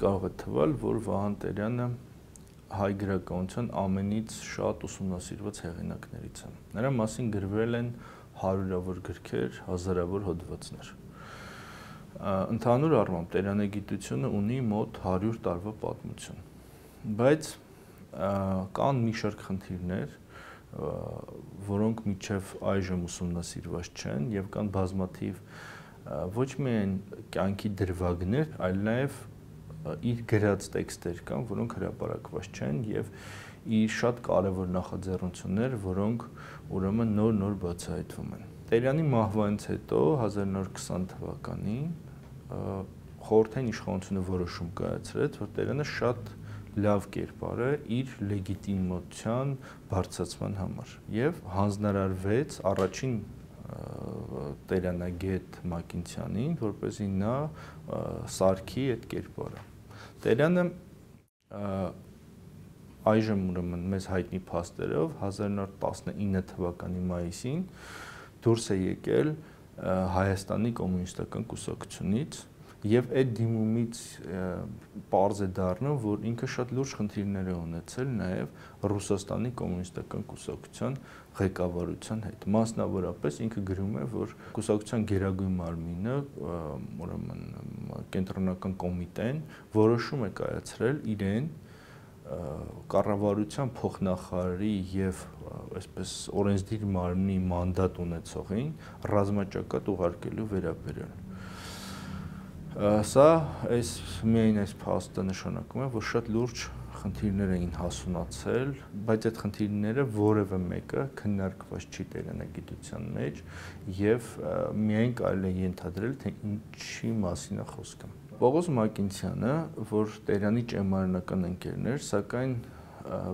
կարող է թվալ, որ Վահան Տերյանը հայ գրականության ամենից շատ ուսումնասիրված հեղինակներից է։ Նրա մասին գրվել են հարյուրավոր գրքեր, հազարավոր հոդվածներ։ Ընդհանուր առմամբ տերյանագիտությունը ունի մոտ 100 տարվա պատմություն, բայց կան մի շարք խնդիրներ, որոնք մինչև այժմ ուսումնասիրված չեն եւ կան բազմաթիվ ոչ միայն կյանքի դրվագներ, այլ նաեւ իր գրած տեքստեր կան, որոնք հրապարակված չեն եւ իր շատ կարեւոր նախաձեռնություններ, որոնք ուրեմն նոր բացահայտվում են։ Տերյանի մահվանից հետո 1920 թվականին խորհրդային իշխանությունը որոշում կայացրեց, որ Տերյանը շատ լավ կերպար է իր լեգիտիմության բարձրացման համար եւ հանձնարարվեց առաջին տերյանագետ Մակինցյանին, որպեսզի նա սարքի այդ կերպարը։ Տերյանը այժմ ուրեմն մեզ հայտնի փաստերով 1919 թվականի մայիսին դուրս է եկել Հայաստանի կոմունիստական կուսակցությունից եւ այդ դիմումից պարզ է դառնում, որ ինքը շատ լուրջ խնդիրներ է ունեցել նաեւ Ռուսաստանի կոմունիստական կուսակցության ղեկավարության հետ։ Մասնավորապես ինքը գրում է, որ կուսակցության գերագույն մարմինը, ուրեմն կենտրոնական կոմիտեն որոշում է կայացրել իրեն կառավարության փոխնախարարի եւ այսպես օրենսդիր մարմնի մանդատ ունեցողին ռազմաճակատ ուղարկելու վերաբերյալ։ Սա միայն այս փաստը նշանակում է, որ շատ լուրջ խնդիրներ էին հասունացել, բայց այդ խնդիրները որևէ մեկը քննարկված չի տերյանագիտության մեջ եւ միայն կարելի է ենթադրել, թե ինչի մասին է խոսքը։ Պողոս Մակինցյանը, որ Տերյանի ճեմարանական ընկերն էր, սակայն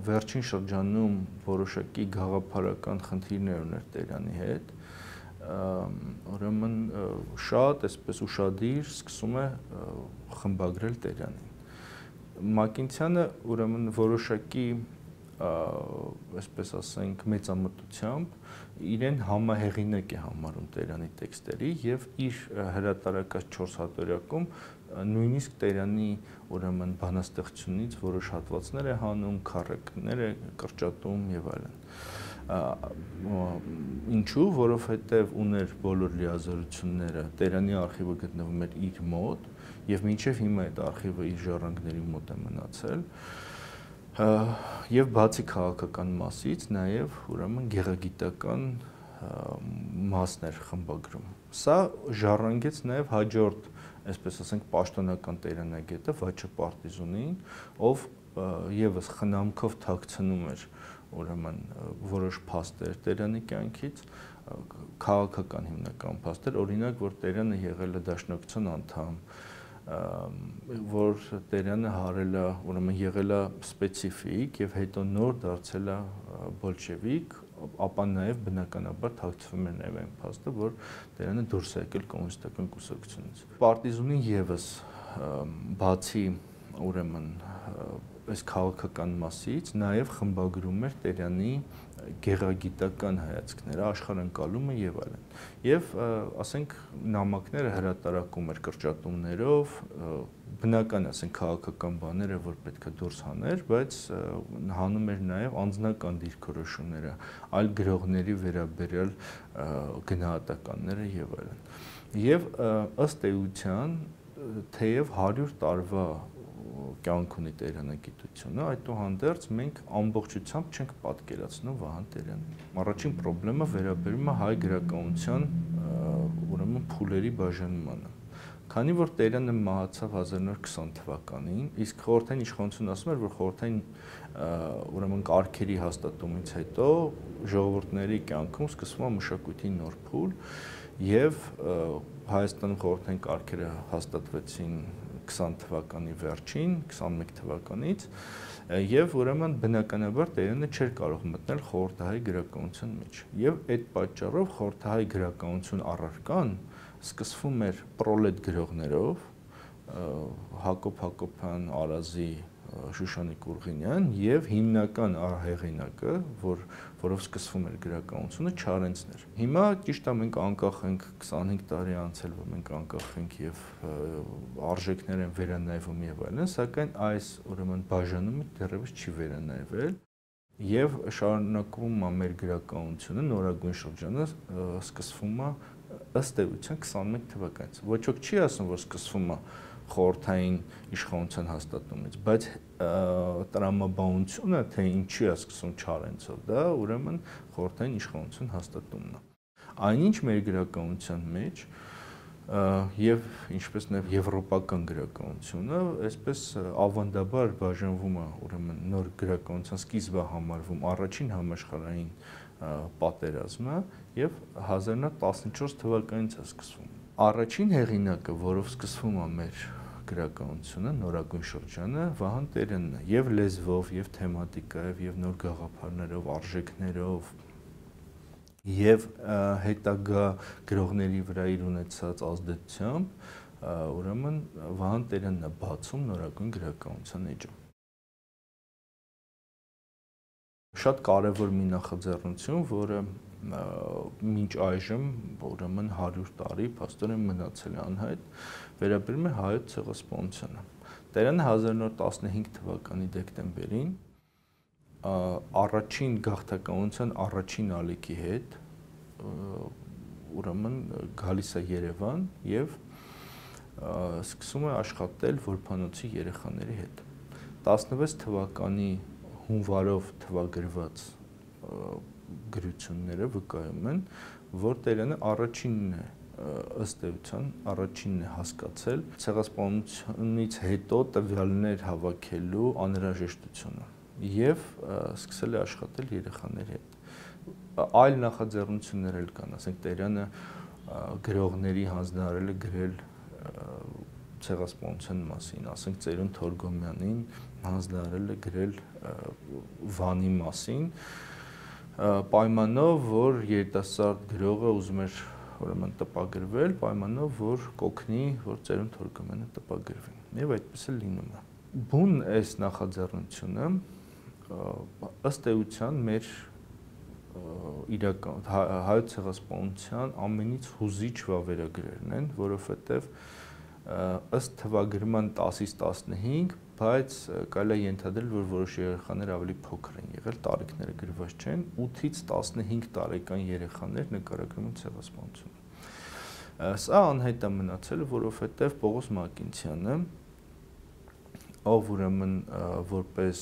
վերջին շրջանում որոշակի գաղափարական խնդիրներ ուներ Տերյանի հետ, ուրեմն շատ այսպես ուշադիր սկսում է խմբագրել Տերյանին։ Մակինցյանը ուրեմն որոշակի այսպես ասենք մեծամտությամբ իրեն համահեղինակ է համարում Տերյանի տեքստերի եւ իր հրատարակած 4 հատորյակում նույնիսկ Տերյանի ուրեմն բանաստեղծությունից որոշ հատվածներ է հանում, քառակներ է կրճատում եւ այլն։ Ինչու, որովհետեւ ուներ բոլոր լիազորությունները, Տերյանի արխիվը գտնվում էր իր մոտ եւ մինչեւ հիմա այդ արխիվը իր ժառանգների մոտ է մնացել։ Եվ բացի քաղաքական մասից նաեւ ուրեմն գեղագիտական մասներ խմբագրում։ Սա ժառանգեց նաեւ հաջորդ, այսպես ասենք, պաշտոնական տերյանագետը Վաչե Պարտիզունին, ով եւս խնամքով թաքցնում էր ուրեմն որոշ փաստեր Տերյանի կյանքից, քաղաքական հիմնական փաստեր, օրինակ, որ Տերյանը եղել է Դաշնակցության անդամ, որ Տերյանը հարել է, ուրեմն եղել է սպეციფիկ եւ հետո նոր դարձել է բոլշևիկ, ապա նաեւ բնականաբար թաքցվում էր նաեւ այն փաստը, որ Տերյանը դուրս է եկել կոմունիստական կուսակցությունից։ Պարտիզունին եւս բացի ուրեմն այս քաղաքական մասից նաեւ խմբագրում էր Տերյանի գեղագիտական հայացքները, աշխարհընկալումը եւ այլն։ Եվ ասենք նամակները հրատարակում էր կրճատումներով, բնական ասենք քաղաքական բաները, որ պետք է դուրս հաներ, բայց հանում էր նաեւ անձնական դիրքորոշումները, այլ գրողների վերաբերյալ գնահատականները եւ այլն։ Եվ ըստ էության, թեև 100 տարվա կյանք ունի տերյանագիտությունը, այդուհանդերձ մենք ամբողջությամբ չենք պատկերացնում Վահան Տերյանին։ Առաջին խնդրումը վերաբերում է հայ գրականության ուրեմն փուլերի բաժանմանը։ Քանի որ Տերյանը մահացավ 1920 թվականին, իսկ խորհրդային իշխանությունը ասում էր, որ խորհրդային ուրեմն կարգերի հաստատումից հետո ժողովուրդների կյանքում սկսվում է մշակույթի նոր փուլ եւ Հայաստանում խորհրդային կարգերը հաստատվեցին 20 թվականի վերջին, 21 թվականից եւ ուրեմն բնականաբար Տերյանը չէր կարող մտնել խորհրդահայ գրականության մեջ։ Եվ այդ պատճառով խորհրդահայ գրականություն առարկան սկսվում էր պրոլետ գրողներով, Հակոբ Հակոբյան, Արազի Շուշանիկ Ուրղինյան եւ հիմնական արհեղինակը, որով սկսվում էր գրականությունը, Չարենցն էր։ Հիմա ճիշտ է մենք անկախ ենք 25 տարի անցել, որ մենք անկախ ենք եւ արժեքներ են վերանայվում եւ այլն, սակայն այս ուրեմն բաժանումը դեռևս չի վերանայվել եւ շարունակվում է մեր գրականությունը, նորագույն շրջանը սկսվում է ըստ էության 21 թվականից։ Ոչ ոք չի ասում, որ սկսվում է խորհրդային իշխանության հաստատումից, բայց տրամաբանությունը, թե ինչի է սկսում Չարենցով, դա ուրեմն խորհրդային իշխանություն հաստատումն է։ Այնինչ մեր գրականության մեջ եւ ինչպես նաեւ եվրոպական գրականությունը, այսպես ավանդաբար բաժանվում է ուրեմն նոր գրականության սկիզբը համարվում առաջին համաշխարհային պատերազմը եւ 1914 թվականից է սկսվում։ Առաջին հեղինակը, որով սկսվում է մեր գրականությունը, նորագույն շրջանը, Վահան Տերյանն է, եւ լեզվով, եւ թեմատիկայով, եւ նոր գաղափարներով, արժեքներով, եւ հետագա գրողների վրա իր ունեցած ազդեցությամբ, ուրեմն Վահան Տերյանն է բացում նորագույն գրականության էջը։ Շատ կարևոր մի նախաձեռնություն, որը մինչ այժմ ուրեմն 100 տարի փաստորեն մնացել է անհայտ, վերաբերում է հայոց ցեղասպանությանը։ Տերյանը 1915 թվականի դեկտեմբերին առաջին գաղթականության առաջին ալիքի հետ ուրեմն գալիս է Երևան եւ սկսում է աշխատել որբանոցի երեխաների հետ։ 16 թվականի հունվարով թվագրված գրությունները վկայում են, որ Տերյանը առաջինն է ըստ էության առաջինն է հասկացել ցեղասպանությունից հետո տվյալներ հավաքելու անհրաժեշտությունը եւ սկսել է աշխատել երեխաների հետ։ Այլ նախաձեռնություններ էլ կան, ասենք Տերյանը գրողների հանձնարարել է գրել ցեղասպանության մասին, ասենք Ծերուն Թորգոմյանին հանձնարարել է գրել Վանի մասին, պայմանով, որ երիտասարդ գրողը ուզում էր ուրեմն տպագրվել, պայմանով, որ կօգնի, որ Ծերուն Թորգոմյանը տպագրվի։ Եվ այդպես էլ լինում է։ Բուն այս նախաձեռնությունը ըստ էության մեր իրական հայոց ցեղասպանության ամենից հուզիչ վավերագրերն են, որովհետև ըստ թվագրման 10-ից 15, բայց կարելի է ենթադրել, որ որոշ երեխաներ ավելի փոքր են եղել, տարիքները գրված չեն, 8-ից 15 տարեկան երեխաներ նկարագրում են ցեղասպանությունը։ Սա անհայտ է մնացել, որովհետև Պողոս Մակինցյանը, ով ուրեմն որպես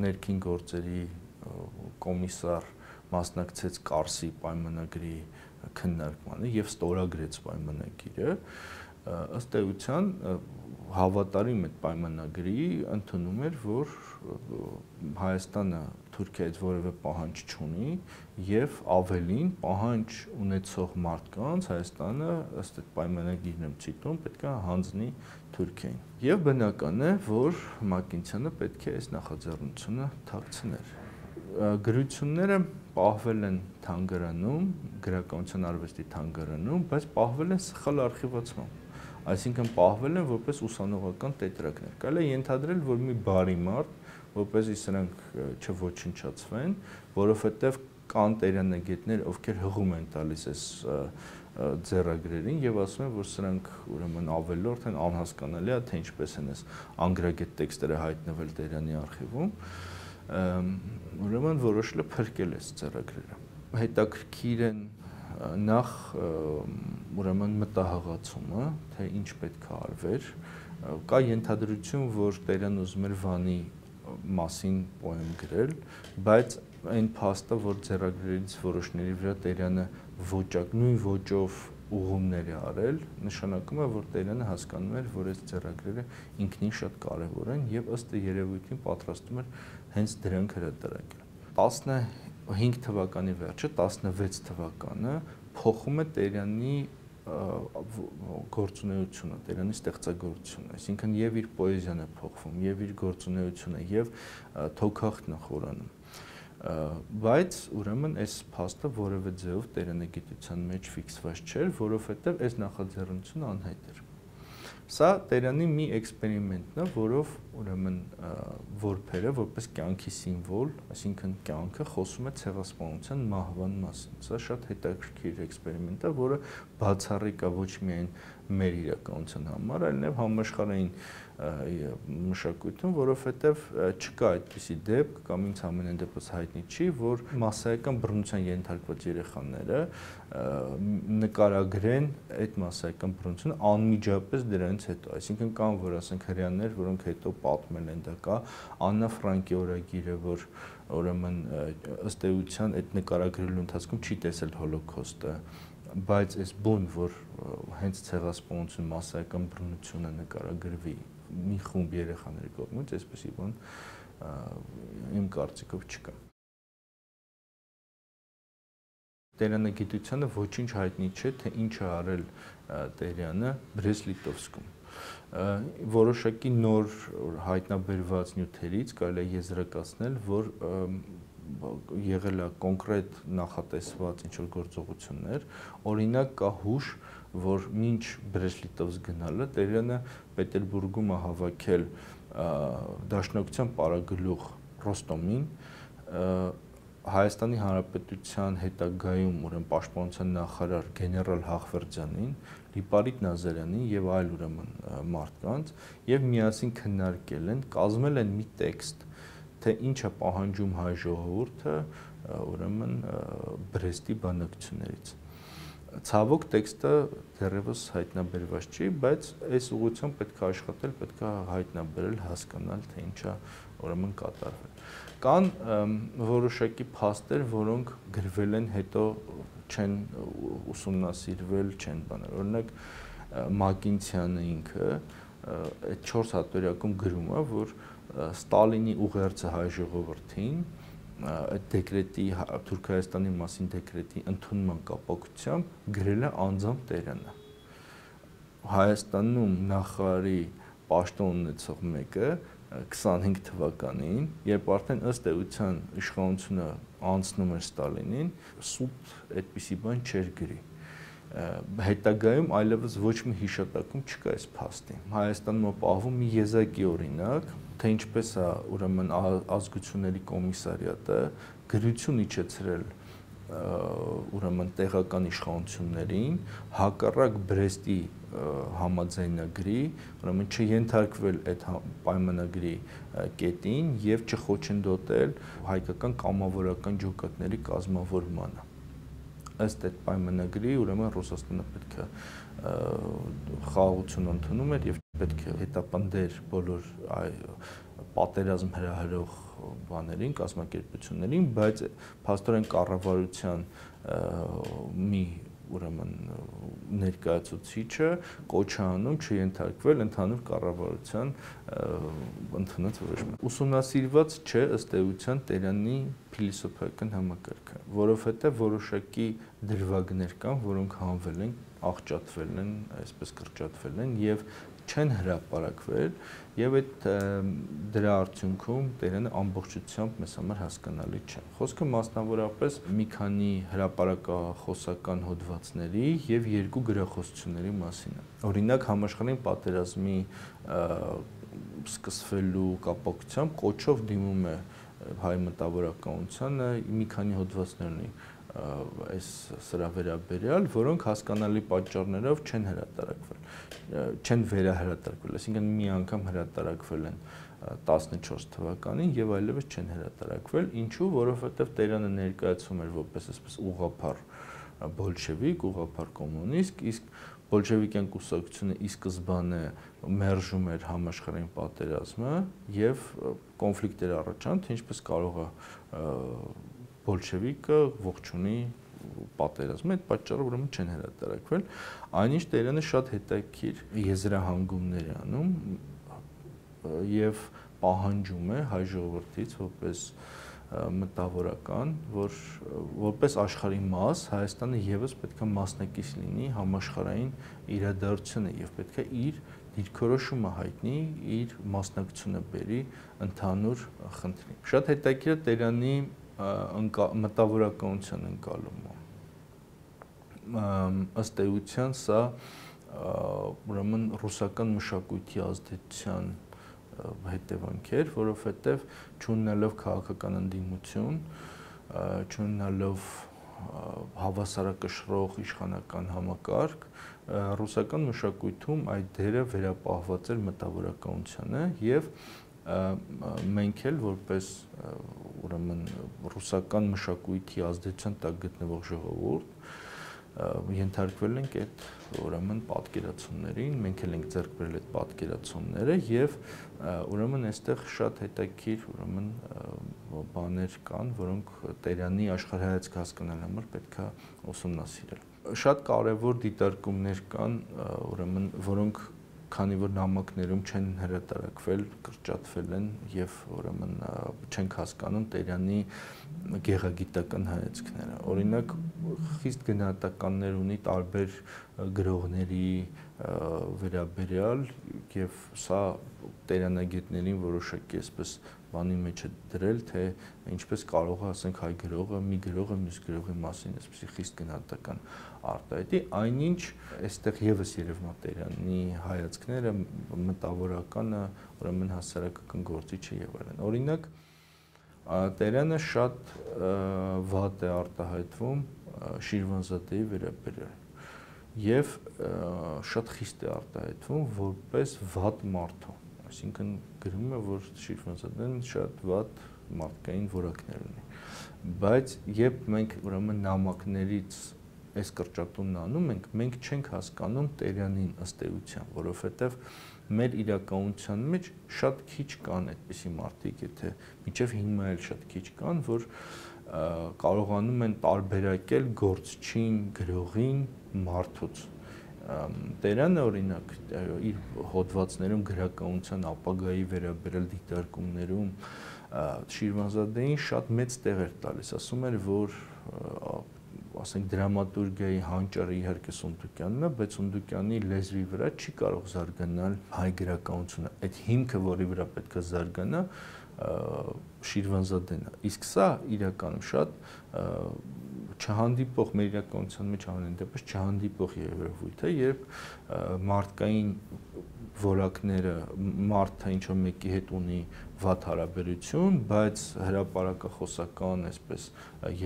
ներքին գործերի կոմիսար մասնակցեց Կարսի պայմանագրի քննարկմանը եւ ստորագրեց պայմանագիրը, ըստ էության հավատարիմ այդ պայմանագրի ընդունում էր, որ Հայաստանը Թուրքիայից որևէ պահանջ չունի եւ ավելին պահանջ ունեցող մարդկանց Հայաստանը ըստ այդ պայմանագիրն եմ ցիտում, պետք է հանձնի Թուրքիային։ Եվ բնական է, որ Մակինցյանը պետք է այս նախաձեռնությունը թաքցներ։ Գրությունները պահվել են թանգարանում, գրականության արվեստի թանգարանում, բայց պահվել են սխալ արխիվացմամբ։ Այսինքն պահվել են որպես ուսանողական տետրակներ։ Կարելի է ենթադրել, որ մի բարի մարդ, որպեսզի սրանք չոչնչացվեն, որովհետև կան տերյանագետներ, ովքեր հղում են տալիս այս ձեռագրերին եւ ասում են, որ սրանք ուրեմն ավելորդ են, անհասկանալի է, թե ինչպես են այս անգրագետ տեքստերը հայտնվել Տերյանի արխիվում, ուրեմն որոշել է փրկել այս ձեռագրերը։ Հետաքրքիր են նախ ուրեմն մտահղացումը, թե ինչ պետք է արվեր, կա ենթադրություն, որ Տերյան ուզում էր Վանի մասին պոեմ գրել, բայց այն փաստը, որ ձեռագրերից որոշների վրա Տերյանը նույն ոճով ուղումներ է արել, նշանակում է, որ Տերյանը հասկանում էր, որ այս ձեռագրերը ինքնին շատ կարևոր են եւ ըստ երևույթին պատրաստում էր հենց դրանք հրատարակել։ 15 թվականի վերջը 16 թվականը փոխում է Տերյանի գործունեությունը, Տերյանի ստեղծագործությունը, այսինքն եւ իր պոեզիան է փոխվում, եւ իր գործունեությունը, եւ թոքախտն է խորանում։ Բայց ուրեմն այս փաստը որևէ ձեւով Տերյանագիտության մեջ ֆիքսված չէր, որովհետեւ այս նախաձեռնությունը անհայտ էր։ Սա Տերյանի մի էքսպերիմենտն է, որով ուրեմն որբերը որպես կյանքի սիմվոլ, այսինքն կյանքը խոսում է ցեղասպանության մահվան մասին։ Սա շատ հետաքրքիր էքսպերիմենտ է, որը բացառիկ է ոչ միայն մեր իրականության համար, այլ նաև համաշխարհային մշակույթում, որովհետև չկա այդպիսի դեպք կամ ինձ ամենայն դեպս հայտնի չի, որ մասսայական բռնության ենթարկված երեխաները նկարագրեն այդ մասսայական բռնությունը անմիջապես դրանից հետո, այսինքն կան, որ ասենք հрьяաներ, որոնք հետո պատմել են, դա կա Աննա Ֆրանկի օրագիրը, որ ուրեմն ըստ էության այդ նկարագրելու ընթացքում չի տեսել հոլոկոստը, բայց այս բուն, որ հենց ցեղասպանություն, մասսայական բռնությունը նկարագրվի մի խումբ երեխաների կողմից, այսպեսի բան իմ կարծիքով չկա։ Տերյանագիտությանը ոչինչ հայտնի չէ, թե ինչ է արել Տերյանը Բրեստ-Լիտովսկում։ Որոշակի նոր հայտնաբերված նյութերից կարելի է եզրակացնել, որ եղել է կոնկրետ նախատեսված ինչ-որ գործողություններ, օրինակ կա հուշ, որ մինչ Բրեստ-Լիտովսկ գնալը Տերյանը Պետերբուրգում է հավաքել Դաշնակցության պարագլուխ Ռոստոմին, Հայաստանի Հանրապետության հետագայում ուրեմն պաշտպանության նախարար գեներալ Հախվերդյանին, Լիպարիտ Նազարյանին եւ այլ ուրեմն մարդկանց եւ միասին քննարկել են, կազմել են մի տեքստ, թե ինչ է պահանջում հայ ժողովուրդը ուրեմն Բրեստի բանակցություններից։ Ցավոք տեքստը դեռևս հայտնաբերված չի, բայց այս ուղղությամբ պետք է աշխատել, պետք է հայտնաբերել, հասկանալ, թե ինչա ուրեմն կատարվել։ Կան որոշակի փաստեր, որոնք գրվել են, հետո չեն ուսումնասիրվել, չեն բաներ։ Օրինակ Մակինցյանը ինքը այդ 4 հատորյակում գրում է, որ Ստալինի ուղերձը հայ ժողովրդին այդ դեկրետի Թուրքայաստանի մասին դեկրետի ընդունման կապակցությամբ գրել է անձամբ Տերյանը։ Հայաստանում նախարարի պաշտոն ունեցող մեկը 25 թվականին, երբ արդեն ըստ էության իշխանությունը անցնում էր Ստալինին, սուտ այդպիսի բան չէր գրի։ Հետագայում այլևս ոչ մի հիշատակում չկա այս փաստի։ Հայաստանում ապահովում մի եզակի օրինակ, թե ինչպես է ուրեմն ազգությունների կոմիսարիատը գրություն իջեցրել ուրեմն տեղական իշխանություններին հակառակ Բրեստի համաձայնագրի, ուրեմն չենթարկվել այդ պայմանագրի կետին եւ չխոչընդոտել հայկական կամավորական ջոկատների կազմավորմանը։ Ըստ այդ պայմանագրի, ուրեմն Ռուսաստանը պետք է խաղաղություն ընդունում էր եւ պետք է հետապնդեր բոլոր պատերազմ հրահրող բաներին, կազմակերպություններին, բայց փաստորեն կառավարության մի ուրեմն ներկայացուցիչը կոչ է անում չենթարկվել ընդհանուր կառավարության ընդունած որոշումը։ Ուսումնասիրված չէ ըստ էության Տերյանի փիլիսոփայական համակարգը, որովհետև որոշակի դրվագներ կան, որոնք հանվել են, աղճատվել են, այսպես կրճատվել են եւ չեն հրապարակվել եւ այդ դրա արդյունքում Տերյանը ամբողջությամբ մեզ համար հասկանալի չէ։ Խոսքը մասնավորապես մի քանի հրապարակախոսական հոդվածների եւ 2 գրախոսությունների մասին է։ Օրինակ համաշխարհային պատերազմի սկսվելու կապակցությամբ կոչով դիմում է հայ մտավորականությանը մի քանի հոդվածներ ունի այս սրա վերաբերյալ, որոնք հասկանալի պատճառներով չեն հրատարակվել, չեն վերահրատարակվել, այսինքն մի անգամ հրատարակվել են 14 թվականին եւ այլևս չեն հրատարակվել, ինչու, որովհետեւ Տերյանը ներկայացում էր որպես այսպես ուղղափառ բոլշևիկ, ուղղափառ կոմունիստ, իսկ բոլշևիկյան կուսակցությունը ի սկզբանե մերժում էր համաշխարհային պատերազմը եւ կոնֆլիկտեր առաջան, թե ինչպես կարող է բոլշևիկը ողջունի պատերազմը, այդ պատճառով ուրեմն չեն հրատարակվել, այնինչ Տերյանը շատ հետաքրքիր եզրահանգումներ է անում եւ պահանջում է հայ ժողովրդից որպես մտավորական, որ որպես աշխարհի մաս Հայաստանը եւս պետք է մասնակից լինի համաշխարհային իրադարձությանը եւ պետք է իր դիրքորոշումը հայտնի, իր մասնակցությունը բերի ընդհանուր խնդրին։ Շատ հետաքրքիր է Տերյանի մտավորականության ընկալումը։ Ըստ էության սա ուրեմն ռուսական մշակույթի ազդեցության հետևանքեր, որովհետև չունենալով քաղաքական ընդդիմություն, չունենալով հավասարակշռող իշխանական համակարգ, ռուսական մշակույթում այդ դերը վերապահված էր մտավորականությանը եւ մենք էլ որպես ուրեմն ռուսական մշակույթի ազդեցության տակ գտնվող ժողովուրդ ենթարկվել ենք այդ ուրեմն պատկերացումներին, մենք էլ ենք ձեռք բերել այդ պատկերացումները եւ ուրեմն այստեղ շատ հետաքրքիր ուրեմն բաներ կան, որոնք Տերյանի աշխարհայացք հասկանալու համար պետք է ուսումնասիրել։ Շատ կարևոր դիտարկումներ կան, ուրեմն որոնք քանի որ նամակներում չեն հրատարակվել, կրճատվել են եւ ուրեմն չենք հասկանում Տերյանի գեղագիտական հայացքները։ Օրինակ խիստ գնահատականներ ունի տարբեր գրողների վերաբերյալ եւ սա Տերյանագետներին որոշակի այսպես բանի մեջ է դրել, թե ինչպես կարող է, ասենք, հայ գրողը մի գրողը մյուս գրողի մասին այսպեսի խիստ գնահատական արտահայտի, այնինչ այստեղ եւս երևում է Տերյանի հայացքները, մտավորականը, ուրեմն հասարակական գործիչը եւ այլն։ Օրինակ Տերյանը շատ վատ է արտահայտվում Շիրվանզադեի վերաբերյալ եւ շատ խիստ է արտահայտվում որպես վատ մարդու, այսինքն գրում է, որ Շիրվանզադեն շատ վատ մարդկային որակներ ունի, բայց երբ մենք ուրեմն նամակներից այս կրճատումն անում ենք, մենք չենք հասկանում Տերյանին ըստ էության, որովհետև մեր իրականության մեջ շատ քիչ կան այդպիսի մարդիկ, եթե մինչև հիմա էլ շատ քիչ կան, որ կարողանում են տարբերակել գործչին, գրողին, մարդուց։ Տերյանը օրինակ իր հոդվածներում գրականության ապագայի վերաբերյալ դիտարկումներում Շիրվանզադեին շատ մեծ տեղ էր տալիս, ասում էր, որ ասենք դրամատուրգիայի հանճարը իհարկե Սունդուկյանն է, բայց Սունդուկյանի լեզվի վրա չի կարող զարգանալ հայ գրականությունը։ Այդ հիմքը, որի վրա պետք է զարգանա, Շիրվանզադեն է։ Իսկ սա իրականում շատ չհանդիպող մեր իրականության մեջ ամեն դեպս չհանդիպող երևույթ է, երբ մարդկային որակները մարդը ինչ-որ մեկի հետ ունի վատ հարաբերություն, բայց հրապարակախոսական այսպես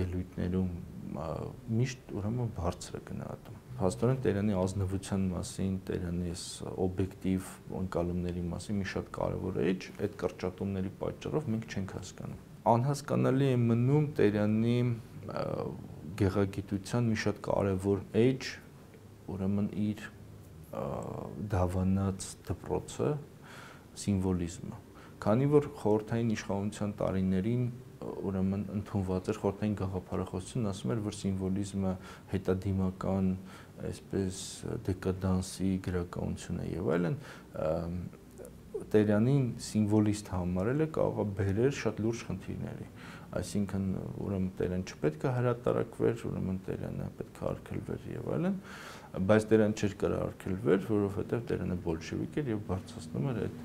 ելույթներում միշտ ուրեմն բարձր է գնահատում։ Փաստորեն Տերյանի ազնվության մասին, Տերյանի այս օբյեկտիվ ընկալումների մասին մի շատ կարևոր էջ, այդ կրճատումների պատճառով մենք չենք հասկանում։ Անհասկանալի է մնում Տերյանի գեղագիտության մի շատ կարևոր էջ, ուրեմն իր դավանած դպրոցը, սիմվոլիզմը։ Քանի որ խորհրդային իշխանության տարիներին ուրեմն ընդունված էր խորհրդային գաղափարախոսություն, ասում էր, որ սիմվոլիզմը հետադիմական, այսպես դեկադանսի գրականություն է եւ այլն, Տերյանին սիմվոլիստ համարելը կարող է բերել շատ լուրջ խնդիրների, այսինքն ուրեմն Տերյան չպետք է հրատարակվեր, ուրեմն Տերյանը պետք է արգելվեր եւ այլն, բայց Տերյան չէր կարող արգելվեր, որովհետեւ Տերյանը բոլշևիկ էր եւ բարձրացնում էր այդ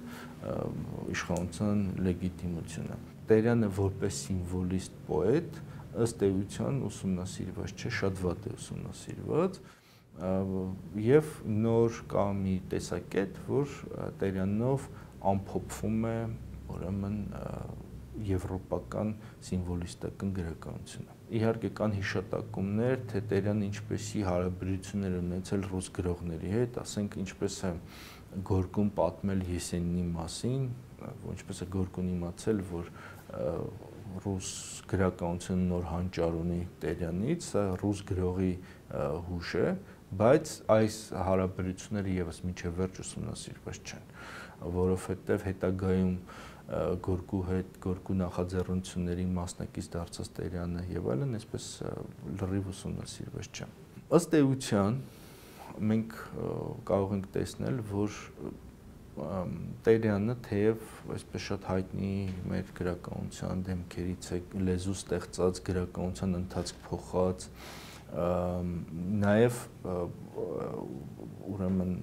իշխանության լեգիտիմությունը։ Տերյանը որպես սիմվոլիստ պոետ ըստ էության ուսումնասիրված չէ, շատ վատ է ուսումնասիրված եւ նոր կա մի տեսակետ, որ Տերյանով ամփոփվում է ուրեմն եվրոպական սիմվոլիստական գրականությունը։ Իհարկե կան հիշատակումներ, թե Տերյանը ինչպեսի հարաբերություններ ունեցել ռուս գրողների հետ, ասենք ինչպես է Գորկուն պատմել Եսենինի մասին, ինչպես է Գորկուն իմացել, որ ռուս գրականությունը նոր հանճար ունի Տերյանից, սա ռուս գրողի հուշ է, բայց այս հարաբերությունները եւս մինչև վերջ ուսումնասիրված չեն, որովհետեւ հետագայում Գորկու հետ, Գորկու նախաձեռնությունների մասնակից դարձած Տերյանը եւ այլն, այսպես լրիվ ուսումնասիրված չէ։ Ըստ էության մենք կարող ենք տեսնել, որ Տերյանը թեև այսպես շատ հայտնի մեր գրականության դեմքերից է, լեզու ստեղծած, գրականության ընթացք փոխած, նաև ուրեմն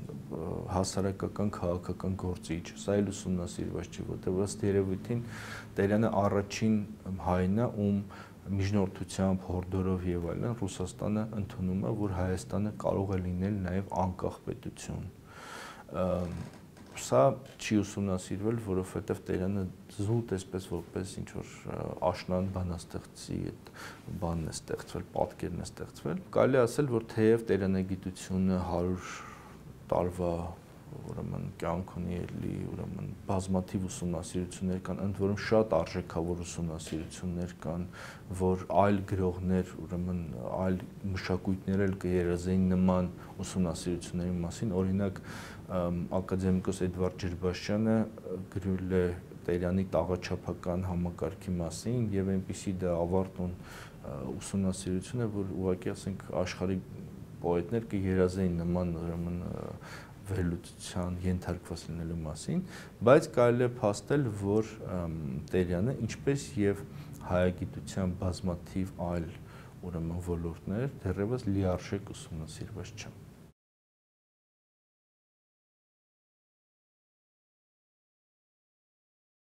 հասարակական քաղաքական գործիչ, սա էլ ուսումնասիրված չի, որտեղ ըստ երևույթին Տերյանը առաջին հայն է, ում միջնորդությամբ, հորդորով եւ այլն Ռուսաստանը ընդունում է, որ Հայաստանը կարող է լինել նաեւ անկախ պետություն։ Սա չի ուսումնասիրվել, որովհետև Տերյանը զուտ էսպես որպես ինչ որ աշնան բանաստեղծի այդ բանն է ստեղծվել, պատկերն է ստեղծվել։ Կարելի է ասել, որ թեև Տերյանագիտությունը 100 տարվա ուրեմն կյանք ունի էլի, ուրեմն բազմաթիվ ուսումնասիրություններ կան, ընդ որում շատ արժեքավոր ուսումնասիրություններ կան, որ այլ գրողներ, ուրեմն այլ մշակույթներ էլ կերազեին նման ուսումնասիրությունների մասին, օրինակ ակադեմիկոս Էդվարդ Ջրբաշյանը գրել է Տերյանի տաղաչափական համակարգի մասին եւ այնպիսի դա ավարտուն ուսումնասիրություն է, որ ուղղակի ասենք աշխարհի պոետներ կերազեին նման ուրեմն վերլուծության ենթարկված լինելու մասին, բայց կարելի է փաստել, որ Տերյանը, ինչպես եւ հայագիտության բազմաթիվ այլ ուրեմն ոլորտներ, դեռևս լիարժեք ուսումնասիրված չեն։